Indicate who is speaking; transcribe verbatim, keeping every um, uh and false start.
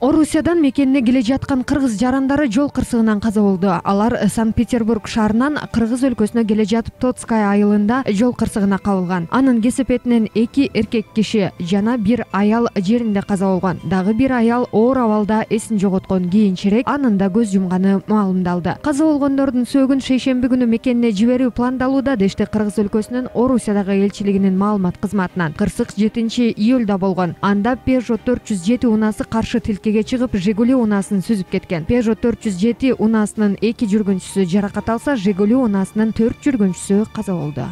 Speaker 1: Орусиядан мекенине келе жаткан кыргыз жарандары жол кырсыгынан каза болду. Алар Санкт-Петербург шаарынан Кыргыз өлкөсүнө келе жатып Тоцкая айылында жол кырсыгына кабылган. Анын кесепетинен эки эркек киши жана бир аял жеринде каза болгон. Дагы бир аял оор абалда эсин жоготкон. Кийинчерээк анын да көз жумганы маалымдалды. Каза болгондордун сөөгүн шейшемби күнү мекенине жиберүү пландалууда дешти Кыргыз өлкөсүнүн Орусиядагы элчилигинин маалымат кызматынан. Кырсык жетинчи июлда болгон. Анда Peugeot төрт жүз жети унаасы каршы тилкеге чыгып, Жигули унаасын сүзүп кеткен. Peugeot төрт жүз жети унаасынын эки жүргүнчүсү жаракат алса, Жигули унаасынын төрт жүргүнчүсү каза болду.